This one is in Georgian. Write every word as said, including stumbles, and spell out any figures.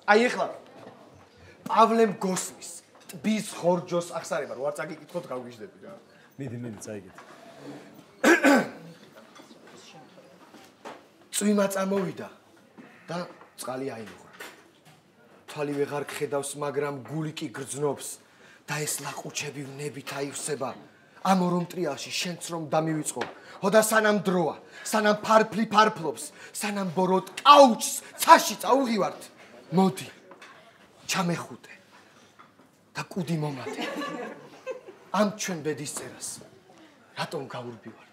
აი ეხლა პავლემ გოსმის ტბის ხორჯოს ახსარება რო არ წაგიკითხოთ გავგიჟდები რა. მიდი, მიდი, წაიგეთ. წვიმა წამოვიდა და წყალი აიღო. თვალი ვეღარ ხედავს, მაგრამ გული კი გრძნობს და ეს ლაყუჩები ვნებით აივსება. ამ ორომტრიაში შენც რომ დამივიწყო. ხოდა სანამ დროა, სანამ ფარფლი ფარფლობს, სანამ ბოროტ კაუჩს ცაში წაუღივართ. მოდი, ჩამეხუტე და კუდი მომატე. ამ ჩვენ ბედის წერას რატომ გაურბივარ?